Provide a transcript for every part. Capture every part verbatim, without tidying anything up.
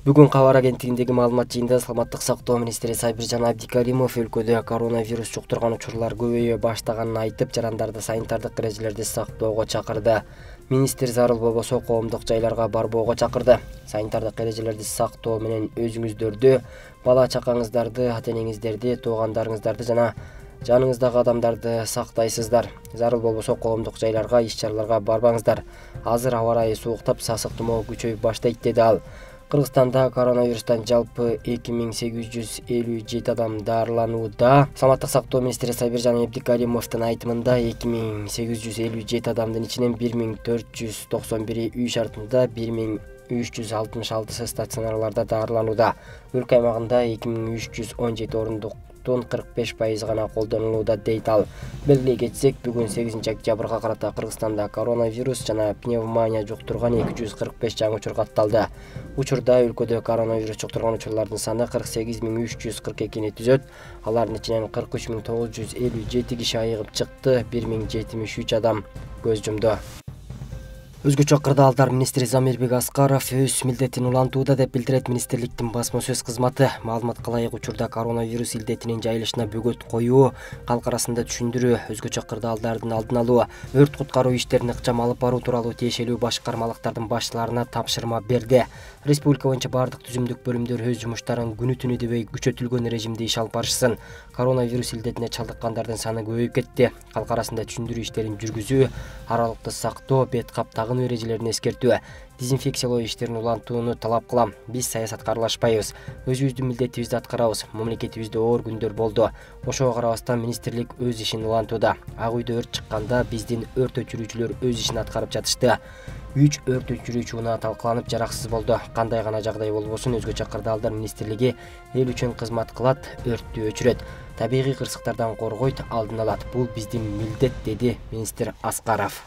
Бүгүн кабар агенттигиндеги маалымат жыйынында Саламаттык сактоо министри Сайбиржан Абдикаримов өлкөдө коронавирус жуктурган учурлар көбөйө баштаганын айтып, жарандарды санитардык эрежелерди сактоого чакырды. Министр зарыл болбосо коомдук жайларга барбоого чакырды. Санитардык эрежелерди сактоо менен өзүңүздөрдү, бала чакаңыздарды, ата-энеңиздерди, туугандарыңыздарды жана жаныңыздагы адамдарды сактайсыздар. Зарыл болбосо коомдук жайларга, иш-чараларга барбаңыздар. Азыр аба ырайы сууктап, сасык тумоо күчөйүп баштайт, деди ал. Кыргызстанда коронавирустан жалпы эки миң сегиз жүз элүү жети адам дарыланууда. Саламаттык сактоо министри Сайбиржан Абдикаримовдун айтымында эки миң сегиз жүз элүү жети адамдын ичинен бир миң төрт жүз токсон бири үй шартында, бир миң үч жүз алтымыш алтысы стационарларда дарыланууда. Өлкө аймагында эки миң үч жүз он жети орундуктун кырк беш пайызы гана колдонулууда, дейт ал. Белгилей кетсек, бүгүн сегизинчи октябрга карата Кыргызстанда коронавирус жана пневмония жуктурган эки жүз кырк беш жаңы учур катталды. Учурда өлкөдө коронавирус жуктурган учурлардын саны кырк сегиз миң үч жүз кырк экини түзөт. Алардын ичинен кырк үч миң тогуз жүз элүү жети киши айыгып чыкты, бир миң жетимиш үч адам көз жумду. Өзгөчө кырдаалдар министри Замирбек Аскаров өз милдетин улантууда, деп билдирет министрликтин басма сөз кызматы. Маалыматка ылайык, учурда коронавирус илдетинин жайылышына бөгөт коюу, калк арасында түшүндүрүү, өзгөчө кырдаалдардын алдын алуу, өрт куткаруу иштерин ыкчам алып баруу тууралуу тиешелүү башкармалыктардын башчыларына тапшырма берди. Республика боюнча бардык түзүмдүк бөлүмдөр өз жумуштарын күнү түнү дебей күчөтүлгөн режимде иш алып барышсын. Коронавирус илдетине чалдыккандардын саны көбөйүп кетти. Калк арасында түшүндүрүү иштерин жүргүзүү, аралыкты сактоо, бет кап тагынуу эрежелерин эскертүү, дезинфекциялоо иштерин улантууну талап кылам. Биз саясатка аралашпайбыз, өзүбүздүн милдетибизди аткарабыз. Мамлекетибизде оор күндөр болду. Ошого карабастан министрлик өз ишин улантууда. Ак үйдө өрт чыкканда биздин өрт өчүрүүчүлөр өз ишин аткарып жатышты. Үч өрт өчүрүүчү унаа талкаланып жараксыз болду. Кандай гана жагдай болбосун, өзгөчө кырдаалдар министрлиги эл үчүн кызмат кылат, өрттү өчүрөт, табигый кырсыктардан коргойт, алдын алат. Бул биздин милдет, деди министр Аскаров.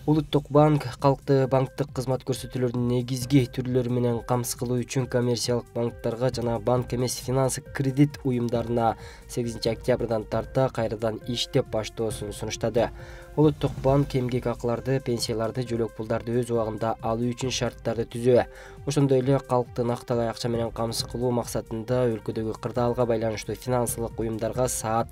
Улуттук банк калкты банктык кызмат көрсөтүүлөрдүн негизги түрлөрү менен камсыз кылуу үчүн коммерциялык банктарга жана банк эмес финанс кредит уюмдарына сегизинчи октябрдан тарта кайрадан иштеп баштоосун сунуштады. Улуттук банк эмгек акыларды, пенсияларды, жөлөк пулдарды өз убагында алуу үчүн шарттарды түзүү, ошондой эле калкты накталай акча менен камсыз кылуу максатында өлкөдөгү кырдаалга байланыштуу финансылык уюмдарга саат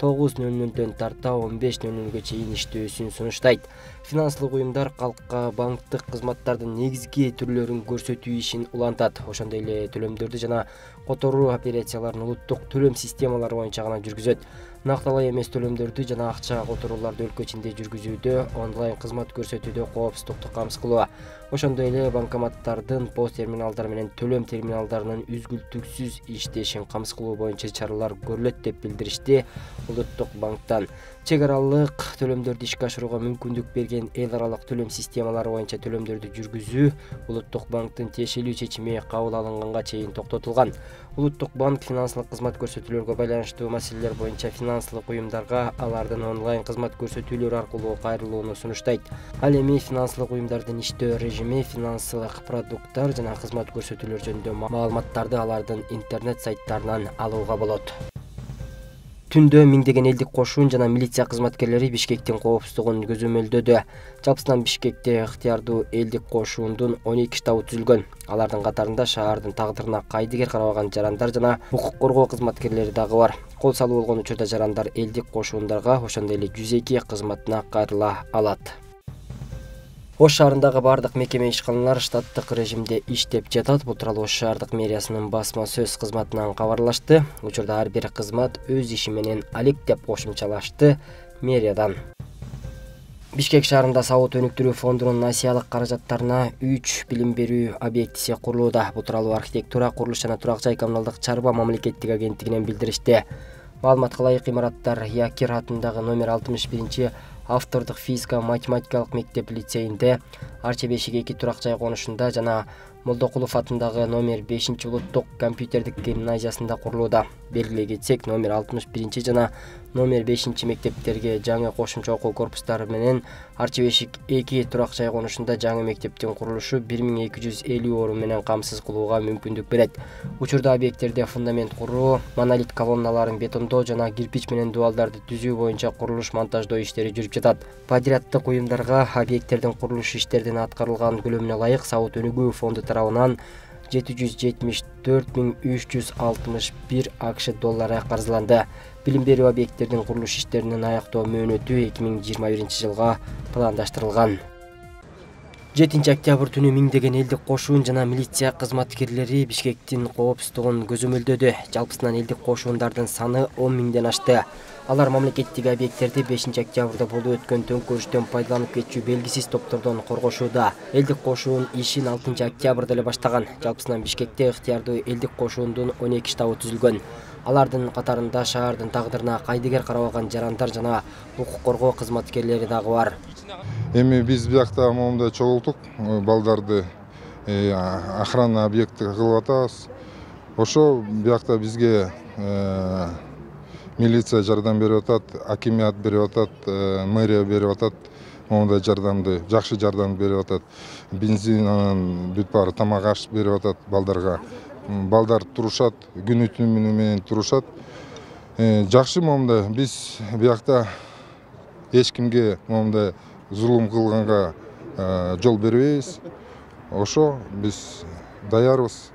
тогуз нөл нөлдөн тарта он беш нөл нөлгө чейин иштөөсүн сунуштайт. Финансылык уюмдар калкка банктык кызматтардын негизги түрлөрүн көрсөтүү ишин улантат. Ошондой эле төлөмдөрдү жана которуу операцияларын улуттук төлөм системалары боюнча гана жүргүзөт. Накталай эмес төлөмдөрдү жана акча которууларды өлкө ичинде жүргүзүүдө, онлайн кызмат көрсөтүүдө коопсуздукту камсыз кылуу, ошондой эле банкоматтардын, пост терминалдар менен төлөм терминалдарынын үзгүлтүксүз иштешин камсыз кылуу боюнча чаралар көрүлөт, деп билдиришти Улуттук банктан. Чек аралык төлөмдөрдү ишке ашырууга мүмкүндүк берген эл аралык төлөм системалары боюнча төлөмдөрдү жүргүзүү Улуттук банктын тиешелүү чечими кабыл алынганга чейин токтотулган. Улуттук банк финансылык кызмат көрсөтүүлөргө байланыштуу маселелер боюнча финансылык уюмдарга алардын онлайн кызмат көрсөтүүлөрү аркылуу кайрылууну сунуштайт. Ал эми финансылык уюмдардын иштөө режими, финансылык продукттар жана кызмат көрсөтүүлөр жөнүндө маалыматтарды алардын интернет сайттарынан алууга болот. Түндө миңдеген элдик кошун жана милиция кызматкерлери Бишкектин коопсуздугун көзөмөлдөдү. Жалпысынан Бишкекте ыктыярдуу элдик кошуундун он эки штабы түзүлгөн. Алардын катарында шаардын тагдырына кайдыгер карабаган жарандар жана укук коргоо кызматкерлери дагы бар. Кол салуу болгон учурда жарандар элдик кошуундарга, ошондой эле жүз эки кызматына кайрыла алат. Ош шаарындагы бардык мекеме ишканалар штаттык режимде иштеп жатат. Бул тууралуу Ош шаардык мэриясынын басма сөз кызматынан кабарлашты. Учурда ар бир кызмат өз иши менен алек, деп кошумчалашты мэриядан. Бишкек шаарында сабот өнүктүрүү фондунун насиялык каражаттарына үч билим берүү объектиси курулууда. Бул тууралуу архитектура, курулуш жана турак жай коммуналдык чарба мамлекеттик агенттигинен билдиришти. Маалыматка ылайык, имараттар Якир атындагы номер алтымыш биринчи автордук физика математикалык мектеп лицейинде, Арча бешик эки турак жай конушунда жана Молдокулов атындагы номер бешинчи улуттук компьютердик гимназиясында курулууда. Белгилей кетсек, номер алтымыш биринчи жана номер бешинчи мектептерге жаңы кошумча окуу корпустары менен Арча бешик эки турак жай конушунда жаңы мектептин курулушу бир миң эки жүз элүү орун менен камсыз кылууга мүмкүндүк берет. Учурда объекттерде фундамент куруу, монолит колонналарын бетондоо жана кирпич менен дубалдарды түзүү боюнча курулуш монтаждоо иштери жүрүп жатат. Подряддык уюмдарга объекттердин курулуш иштеринин аткарылган көлөмүнө ылайык Сабот өнүгүү фонду тарабынан жети жүз жетимиш төрт миң үч жүз алтымыш бир акш доллары каржыланды. Билим берүү объекттеринин курулуш иштеринин аяктоо мөөнөтү эки миң жыйырма биринчи жылга пландаштырылган. жетинчи октябрь түнү миңдеген элдик кошун жана милиция кызматкерлери Бишкектин коопсуздугун көзөмөлдөдү. Жалпысынан элдик кошундардын саны он миңден ашты. Алар мамлекеттик объекттерди бешинчи октябрда болуп өткөн төңкөрүштөн пайдаланып кетчү белгисиз топтордон коргошууда. Элдик кошун ишин алтынчы октябрда эле баштаган. Жалпысынан Бишкекте ыктыярдуу элдик кошуундун он эки штабы түзүлгөн. Алардын катарында шаардын тагдырына кайдыгер карабаган жарандар жана укук коргоо кызматкерлери дагы бар. Эми биз биякта момундай чогултук, балдарды охрана объекти кылып атабыз. Ошо биякта бизге милиция жардам берип атат, акимият берип атат, мэрия берип атат. Момундай жардамды, жакшы жардам берип атат. Бензин анан бүт баары тамак аш берип атат балдарга. Балдар турушат, күнү түнү менен турушат. Жакшы момундай биз биякта эч кимге момундай зулум кылганга жол бербейбиз. Ошо биз даярбыз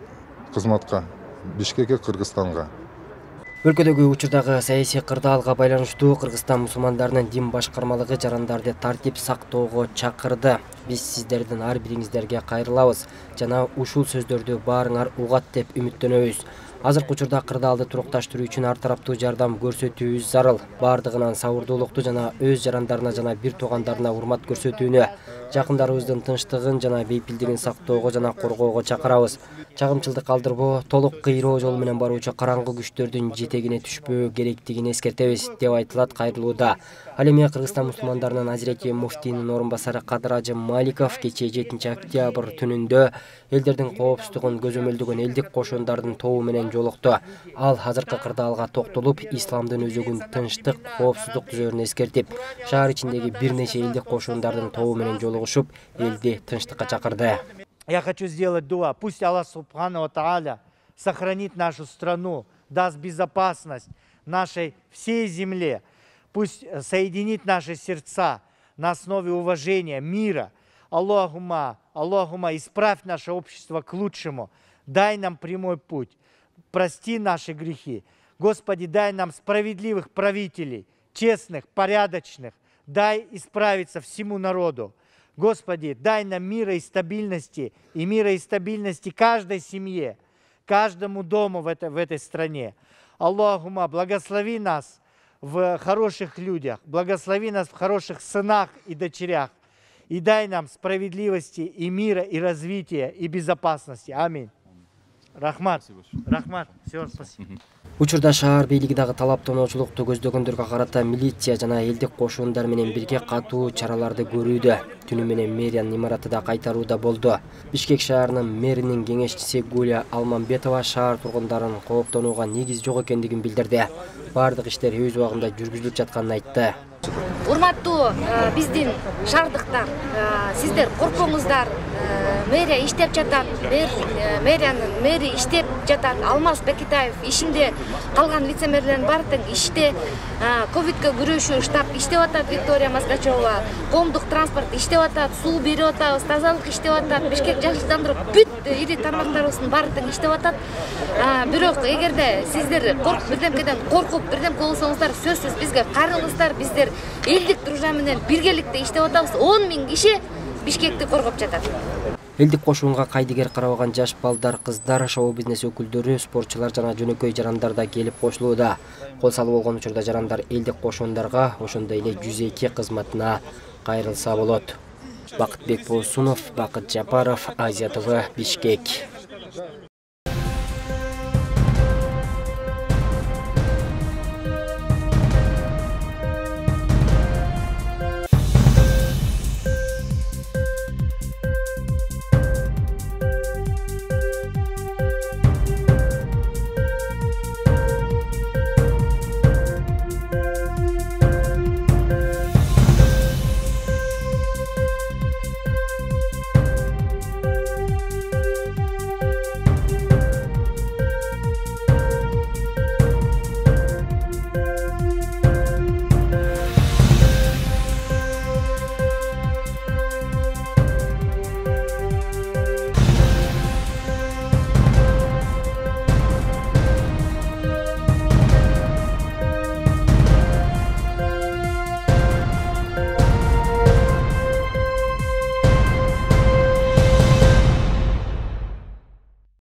кызматка Бишкекке, Кыргызстанга. Өлкөдөгү учурдагы саясий кырдаалга байланыштуу Кыргызстан мусулмандарынын дин башкармалыгы жарандарды тартип сактоого чакырды. Биз сиздердин ар бириңиздерге кайрылабыз жана ушул сөздөрдү баарыңар угат деп үмүттөнөбүз. Азыркы учурда кырдаалды турукташтыруу үчүн ар тараптуу жардам көрсөтүүбүз зарыл. Бардыгынан сабырдуулукту жана өз жарандарына жана бир туугандарына урмат көрсөтүүнү, жакындарыбыздын тынчтыгын жана бейпилдигин сактоого жана коргоого чакырабыз. Чагымчылдык калтырбоо, толук кыйроо жол менен баруучу караңгы күчтөрдүн жетегине түшпөө керектигин эскертебиз деп айтылат кайрылууда. Ал эми Кыргызстан мусулмандарынын Азирети муфтийнин орун басары Кадыр Ажы Маликов кечээ жетинчи октябрь түнүндө элдердин коопсуздугун көзөмөлдөгөн элдик кошундардын тобу менен жолукту. Ал азыркы кырдаалга токтолуп, исламдын өзөгүн тынчтык, коопсуздук түзөрүн эскертип, шаар ичиндеги бир нече элдик кошундардын тобу менен жолугушуп, элди тынчтыкка чакырды. Я хочу сделать дуа. Пусть Аллах Субхану ва Тааля сохранит нашу страну, даст безопасность нашей всей земле. Пусть соединит наши сердца на основе уважения, мира. Аллахума, Аллахума, исправь наше общество к лучшему. Дай нам прямой путь. Прости наши грехи. Господи, дай нам справедливых правителей, честных, порядочных. Дай исправиться всему народу. Господи, дай нам мира и стабильности, и мира и стабильности каждой семье, каждому дому в этой, в этой стране. Аллахума, благослови нас в хороших людях, благослови нас в хороших сынах и дочерях, и дай нам справедливости и мира, и развития, и безопасности. Аминь. Рахмат. Рахмат. Все, спасибо. Учурда шаар бийлиги дагы талап-тоноочулукту көздөгөндөргө карата милиция жана элдик кошундар менен бирге катуу чараларды көрүүдө. Түнү менен мэриянын имараты да кайтарууда болду. Бишкек шаарынын мэринин кеңешчиси Гуля Алмамбетова шаар тургундарын кооптонууга негиз жок экендигин билдирди. Бардык иштер өз убагында жүргүзүлүп жатканын айтты. Урматтуу биздин шаардыктар, сиздер коркпоңуздар. Мэрия иштеп жатат, мэриянын мэри иштеп жатат. Алмаз Бекитаев ишинде, калган вице-мэрлердин баары тең иште. Ковидке күрөшүү штаб иштеп атат, Виктория Маскачева. Коомдук транспорт иштеп атат, суу берип атабыз, тазалык иштеп атат. Бишкек жакшыландырып, бүт ири тармактарыбыздын баары тең иштеп атат. Бирок эгерде сиздер бирдемкеден коркуп, бирдемке болсоңуздар, сөзсүз бизге кайрылыңыздар. Биздер элдик дружба менен биргеликте иштеп атабыз. он миң киши Бишкекти коргоп жатат. Элдик кошуунга кайдыгер карабаган жаш балдар, кыздар, шоу-бизнес өкүлдөрү, спортчулар жана жөнөкөй жарандар да келип кошулууда. Кол салуу болгон учурда жарандар элдик кошуундарга, ошондой эле жүз эки кызматына кайрылса болот. Бакытбек Болсунов, Бакыт Жапаров, Азия ТВ, Бишкек.